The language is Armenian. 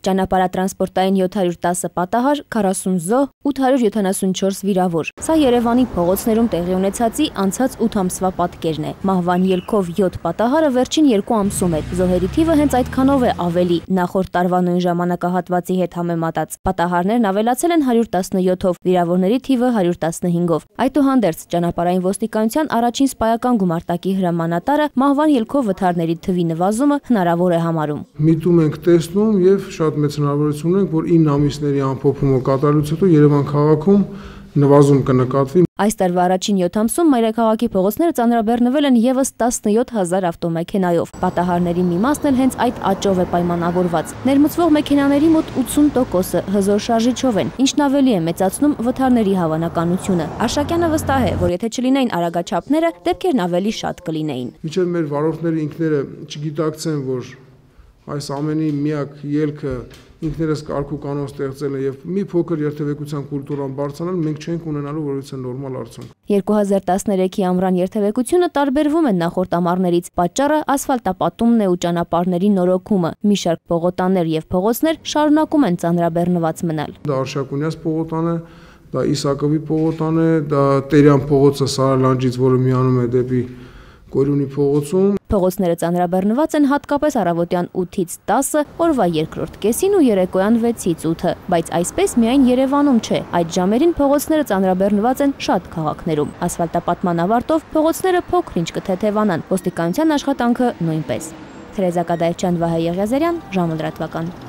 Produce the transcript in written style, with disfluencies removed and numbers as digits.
Ճանապարհատրանսպորտային 710 պատահար, 40 զոհ, 874 վիրավոր։ Սա Երևանի փողոցներում տեղի ունեցածի անցած 8 ամսվա պատկերն է։ Մահվան ելքով 7 պատահարը վերջին 2 ամսում էր։ Զոհերի թիվը հենց այդքանով է ավելի նախորդ տարվա նույն ժամանակահատվածի հետ համեմատած։ Պատահարներն ավելացել են 117-ով, վիրավորների թիվը 115-ով։ Այդուհանդերձ ճանապարհային ոստիկանության առաջին սպայական գումարտակի հրամանատարը մահվան ելքով վթարների թվի նվազումը հնարավոր է համարում։ Միտում ենք տեսնում եւ շատ մեծ հնարավորություն ունենք, որ 9 ամիսների ամփոփումը կատարելուց հետո Երևան քաղաքում նվազում կնկատվի։ Այս տարվա առաջին 7 ամսում մայրաքաղաքի փողոցները ծանրաբեռնվել են եւս 17000 ավտոմեքենայով։ Պատահարների մի մասն էլ հենց այդ աճով է պայմանավորված։ Ներմուծվող մեքենաների մոտ 80%-ը հզոր շարժիչով են, ինչն ավելի է մեծացնում վթարների հավանականությունը։ Արշակյանը վստահ է, որ եթե չլինեին արագաչափները, դեպքերն ավելի շատ կլինեին։ Մինչև մեր վարորդները ինքները չգիտակցեն, որ այս ամենի միակ ելքը ինքներս կարգ ու կանոն ստեղծելն է եւ մի փոքր երթևեկության կուլտուրան բարձրանալ, մենք չենք ունենալու որևէ նորմալ արդյունք։ 2013-ի ամռան երթևեկությունը տարբերվում է նախորդ ամառներից։ Պատճառը ասֆալտապատումն է ու ճանապարհների նորոգումը։ Մի շարք պողոտաներ եւ փողոցներ շարունակում են ծանրաբեռնված մնալ։ Դա Արշակունյաց պողոտան է, դա Իսակովի պողոտան է, դա Տերյան փողոցը Սարալանջից, որը միանում է դեպի Գորյունի փողոցում։ Փողոցները ծանրաբեռնված են հատկապես առավոտյան 8-ից 10, օրվա երկրորդ կեսին ու երեկոյան 6-ից 8, բայց այսպես միայն Երևանում չէ։ Այդ ժամերին փողոցները ծանրաբեռնված են շատ քաղաքներում։ Ասֆալտապատման ավարտով փողոցները փոքր-ինչ կթեթևանան, ոստիկանության աշխատանքը նույնպես։ Թերեզա Կադայեվչյան, Վահե Եղիազարյան, ժամը լրատվական։